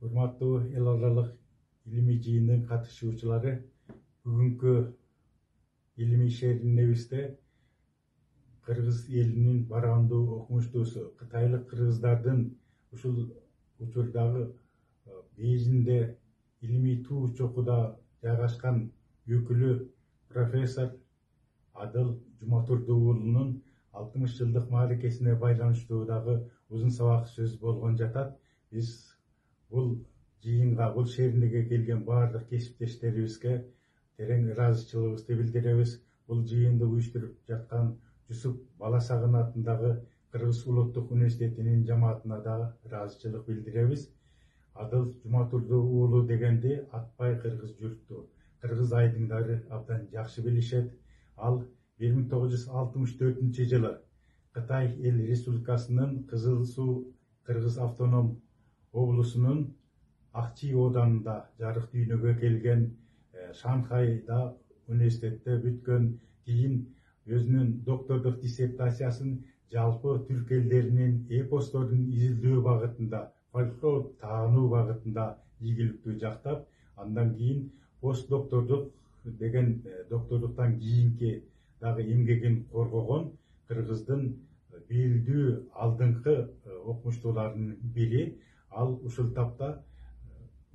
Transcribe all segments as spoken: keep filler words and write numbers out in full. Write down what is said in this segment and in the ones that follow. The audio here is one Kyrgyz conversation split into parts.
Урматтуу эл аралык илимий жыйындын катышуучулары, бүгүнкү илимий шеринебизде кыргыз элинин барандуу окумуштуусу кытайлык кыргыздардын ушул учурдагы Бейжиңде илимий туу чокуда жайгашкан өкүлү профессор Адыл Жуматурду уулунун алтымыш жылдык мааракесине байланыштуу дагы узун сабак сөз болгон жатат. Биз бул жыйынга, бул шеринеге келген баардык кесиптештерибизге терең ыраазычылыгыбызды билдиребиз. Бул жыйынды уюштуруп жаткан Жусуп Баласагын атындагы Кыргыз улуттук университетинин жамаатына да ыраазычылык билдиребиз. Адыл Жуматурду уулу дегенди атпай кыргыз журтту, кыргыз айдыңдары абдан жакшы билишет. Ал бир миң тогуз жүз алтымыш төртүнчү жылы Кытай Эл Республикасынын Кызыл Суу Кыргыз автоном облусунун Акчи оданында жарык дүйнөгө келген, Шанхайда университетте бүткөн, кийин өзүнүн доктордук диссертациясын жалпы түрк элдеринин эпосторун изилдөө багытында, фольклор таануу багытында ийгиликтүү жактап, андан кийин пост доктордук деген доктордуктан кийинки дагы эмгегин коргогон Кыргыздын белдүү алдыңкы окумуштууларынын бири. Ал ушул тапта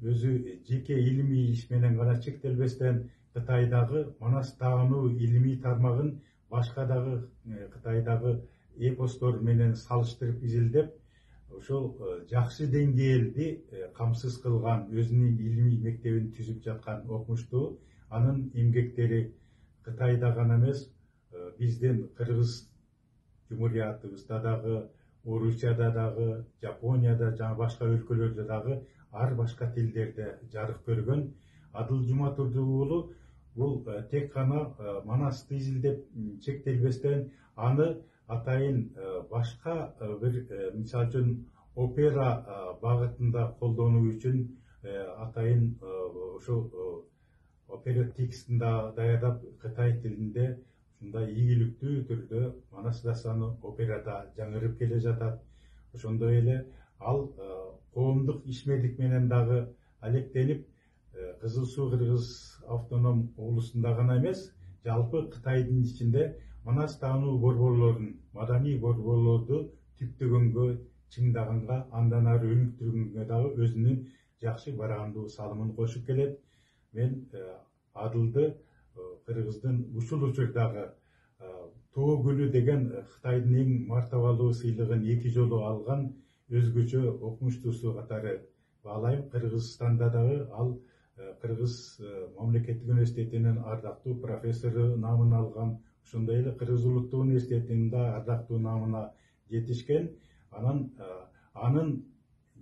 өзү жеке илимий иш менен гана чектелбестен Кытайдагы Манас таануу илимий тармагын башка дагы Кытайдагы эпостор менен салыштырып изилдеп, ошол жакшы деңгээлди камсыз кылган, өзүнүн илимий мектебин түзүп жаткан окумуштуу. Анын эмгектери Кытайда гана эмес, биздин Кыргыз Жумуриятыбызда дагы, Орусияда дагы, Жапонияда жана башка өлкөлөрдө дагы ар башка тилдерде жарык көргөн. Адыл Жуматурду уулу бул тек гана Манасты изилдеп чектелбестен, аны атайын башка бир, мисалы үчүн опера багытында колдонуу үчүн атайын ошол опера текстин да даярдап Кытай тилинде ушундай ийгиликтүү түрдө Манас дастаны операда жаңырып келе жатат. Ошондой эле ал коомдук ишмерлик менен дагы алектенип, Кызыл Суу Кыргыз автоном облусунда гана эмес, жалпы Кытайдын ичинде Манас таануу борборлорун, маданий борборлорду түптөгөнгө, чыңдаганга, андан ары өнүктүргөнгө дагы өзүнүн жакшы барандуу салымын кошуп келет. Мен Адылды Кыргыздын ушул учурдагы Тоо гүлү деген Кытайдын эң мартабалуу сыйлыгын эки жолу алган өзгөчө окумуштуусу катары баалайм. Кыргызстанда дагы ал Кыргыз мамлекеттик университетинин ардактуу профессору наамын алган, ошондой эле Кыргыз улуттук университетинин да ардактуу наамына жетишкен. Анан анын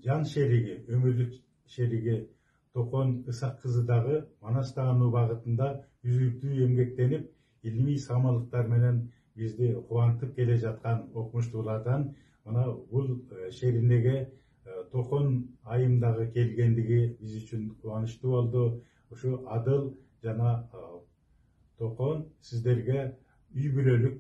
жан шериги, өмүрлүк шериги Токон Ысак кызы дагы Манас таануу багытында үзүлтүү эмгектенип, илимий самалыктар менен бизди кубантып келе жаткан окумуштуулардан. Мына бул шеринеге Токон айымдагы келгендиги биз үчүн кубанычтуу болду. Ушу Адыл жана Токон сиздерге үй бүлөлүк,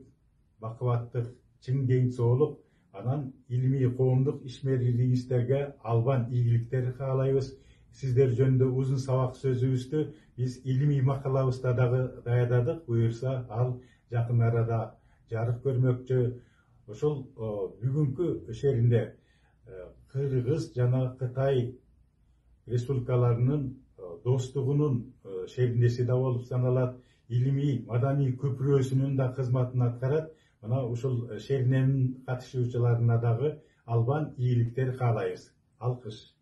бакубаттык, чың ден соолук, анан илимий коомдук ишмерлигиңиздерге албан ийгиликтер каалайбыз. Сиздер жөнүндө узун сабак сөзүбүздү биз илимий макалабызда дагы даярдадык. Буюрса, ал жакын арада жарык көрмөкчү. Ошол бүгүнкү шеринде Кыргыз жана Кытай республикаларынын достугунун шериндеси да болуп саналат. Илимий маданий көпүрөсүнүн да кызматын аткарат. Мына ушул шериненин катышуучуларына дагы албан ийгиликтер каалайбыз. Алкыш.